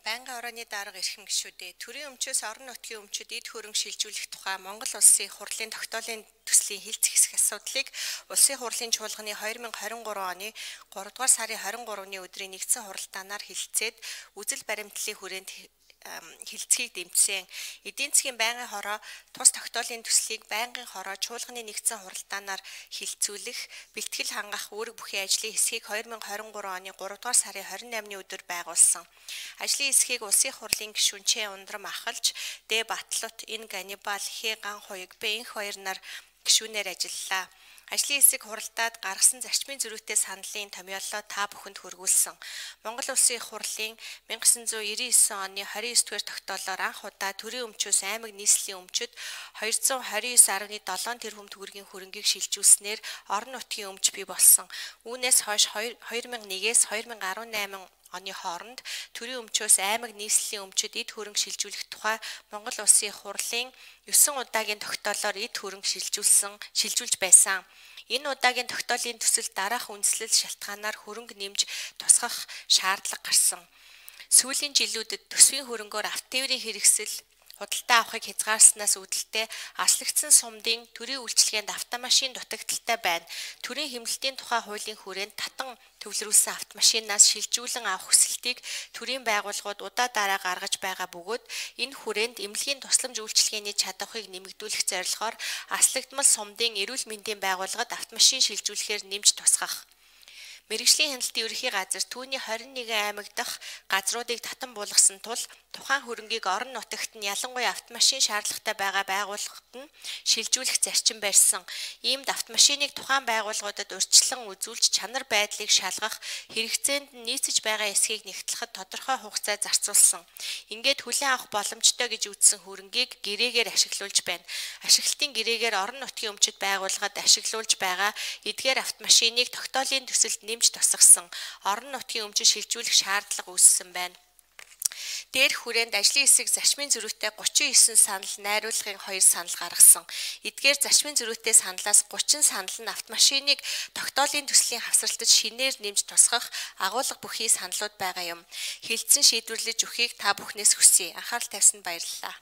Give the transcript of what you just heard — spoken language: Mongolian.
Байнгын орооны дарга эрхэм гишүүдээ төрийн өмчөөс орон нутгийн өмчөд эд хөрөнгө шилжүүлэх тухай Монгол Улсын хурлын тогтоолын төслийн хилцэх хэсэг асуудлыг Улсын хурлын чуулганы 2023 оны 3 дугаар сарын 23-ны өдрийн нэгдсэн хуралдаанаар хэлэлцээд үзэл баримтлалын хүрээнд хилцхийг дэмжсэн. Эдийн засгийн байнгын хороо тус тогтоолын төслийг байнгын хороо чуулганы нэгдсэн хуралдаанаар хилцүүлэх, бэлтгэл хангах үүрэг бүхий ажлын хэсгийг 2023 оны 3 дугаар сарын 28-ны өдөр байгуулсан. Ажлын хэсгийг Улсын хурлын гишүүн Ч Ундрам Ахалж, Д Батлут, Н Ганнибал, Х Ган Хуйг, Б Энх хоёр нар гишүүнээр ажиллалаа. Ажлын хэсэг хуралдаад гаргасан зарчмын зөрүүтэй саналын томьёолоо та бүхэнд хүргүүлсэн. Монгол Улсын их хурлын 1999 оны 29-р тогтоолоор анх удаа төрийн өмчөөс аймаг нийслэлийн өмчөд 229.7 тэрбум төгрөгийн хөрөнгийг шилжүүлснээр орон нутгийн өмч бий болсон. Үүнээс хойш 2001-ээс 2018 оны хооронд төрийн өмчөөс аймаг нийслэлийн өмчөд эд хөрөнгө шилжүүлэх тухай Монгол Улсын их хурлын 9 удаагийн тогтоолоор эд хөрөнгө шилжүүлж байсан. Энэ удаагийн тогтоолын төсөл дараах үндэслэл шалтгаанаар хөрөнгө нэмж тусгах шаардлага гарсан. Сүүлийн жилүүдэд төсвийн хөрөнгөөр автотээврийн хэрэгсэл худалдаа авахыг хязгаарснаас үүдэлтэй аслагдсан сумдын төрийн үйлчилгээнд автомашин дутагдaltaй байна. Төрийн хэмнэлтийн тухай хуулийн хүрээнд татан төвлөрүүлсэн автомашинаас шилжүүлэн авах хүсэлтийг төрийн байгууллагууд удаа дараа гаргаж байгаа бөгөөд энэ хүрээнд эмнэлгийн тусламж үйлчилгээний чадварыг нэмэгдүүлэх зорилгоор аслагдмал сумдын эрүүл мэндийн байгууллагад автомашин шилжүүлэхээр нэмж тусгах. Мэргэжлийн хяналтын ерөнхий газар түүний 21 аймаг дахь газруудыг татан буулгасан тул тухайн хөрөнгийг орон нутагт нь ялангуяа автомашин шаардлагатай байгаа байгууллагад нь шилжүүлэх зарчим барьсан. Иймд автомашиныг тухайн байгууллагуудад урьдчилан үзүүлж чанар байдлыг шалгах, хэрэгцээнд нь нийцэж байгаа эсхийг нэгтлэхэд тодорхой хугацаа зарцуулсан. Ингээд хүлээн авах боломжтой гэж үзсэн хөрөнгийг гэрээгээр ашиглуулж байна. Ашиглалтын гэрээгээр орон нутгийн өмчөд байгууллагад ашиглуулж байгаа эдгээр автомашиныг тогтоолын төсөлд нэмж тусгасан. Орон нутгийн өмчөд шилжүүлэх шаардлага үүссэн байна. Дээрх хүрээнд ажлын хэсэг зарчмын зөрүүтэй 39 санал найруулгын 2 санал гаргасан. Эдгээр зарчмын зөрүүтэй саналаас 30 санал нь автомашиныг тогтоолын төслийн хавсралтад шинээр нэмж тусгах агуулга бүхий саналууд байгаа юм. Хилцэн шийдвэрлэж өгөхийг та бүхнээс хүсье. Анхаарал тавьсанд баярлалаа.